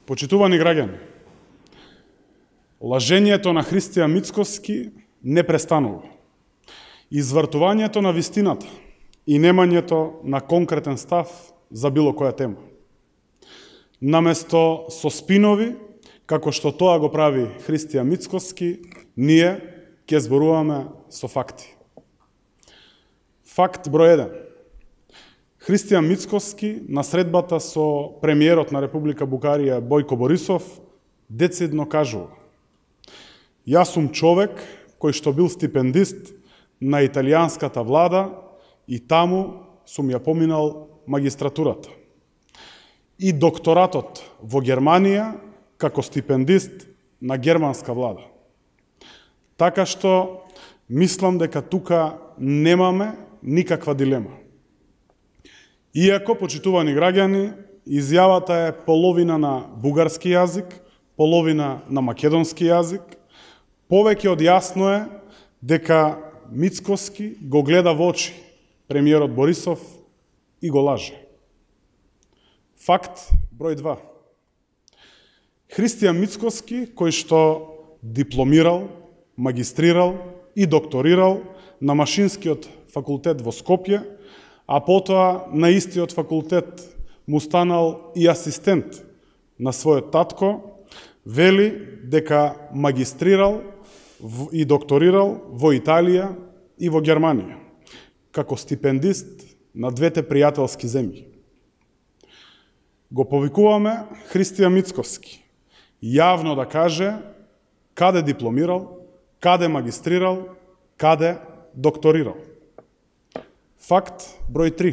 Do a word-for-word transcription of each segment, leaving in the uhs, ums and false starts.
Почитувани граѓани, лажењето на Христијан Мицкоски не престанува. Извртувањето на вистината и немањето на конкретен став за било која тема. Наместо со спинови, како што тоа го прави Христијан Мицкоски, ние ќе зборуваме со факти. Факт број еден. Христијан Мицкоски на средбата со премиерот на Република Бугарија Бојко Борисов децидно кажува: "Јас сум човек кој што бил стипендист на италијанската влада и таму сум ја поминал магистратурата. И докторатот во Германија како стипендист на германска влада. Така што мислам дека тука немаме никаква дилема. Иако, почитувани граѓани, изјавата е половина на бугарски јазик, половина на македонски јазик, повеќе од јасно е дека Мицкоски го гледа во очи премиерот Борисов и го лаже. Факт број два. Христијан Мицкоски, кој што дипломирал, магистрирал и докторирал на Машинскиот факултет во Скопје, а потоа на истиот факултет му станал и асистент на својот татко, вели дека магистрирал и докторирал во Италија и во Германија, како стипендист на двете пријателски земји. Го повикуваме Христијан Мицкоски јавно да каже каде дипломирал, каде магистрирал, каде докторирал. Факт број три.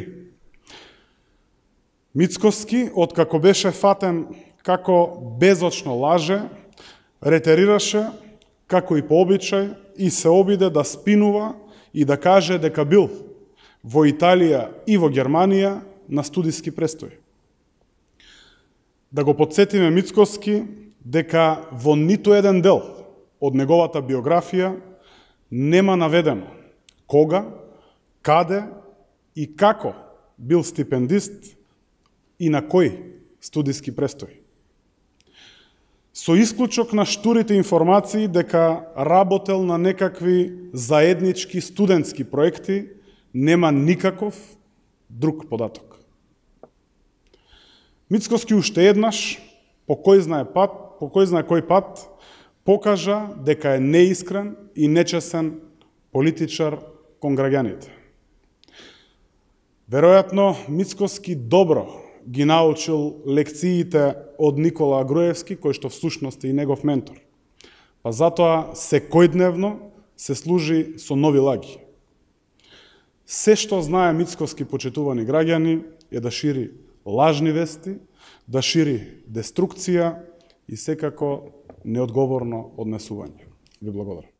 Мицкоски, откако беше фатен како безочно лаже, ретерираше, како и по обичај, и се обиде да спинува и да каже дека бил во Италија и во Германија на студиски престој. Да го подсетиме Мицкоски дека во ниту еден дел од неговата биографија нема наведено кога, каде и како бил стипендист и на кој студиски престој. Со исклучок на штурите информации дека работел на некакви заеднички студентски проекти, нема никаков друг податок. Мицкоски уште еднаш, по кој знае пат, по кој знае кој пат, покажа дека е неискрен и нечесен политичар кон граѓаните. Веројатно, Мицкоски добро ги научил лекциите од Никола Груевски, кој што всушност е и негов ментор. Па затоа секојдневно се служи со нови лаги. Се што знае Мицкоски, почитувани граѓани, е да шири лажни вести, да шири деструкција и секако неодговорно однесување. Ви благодарам.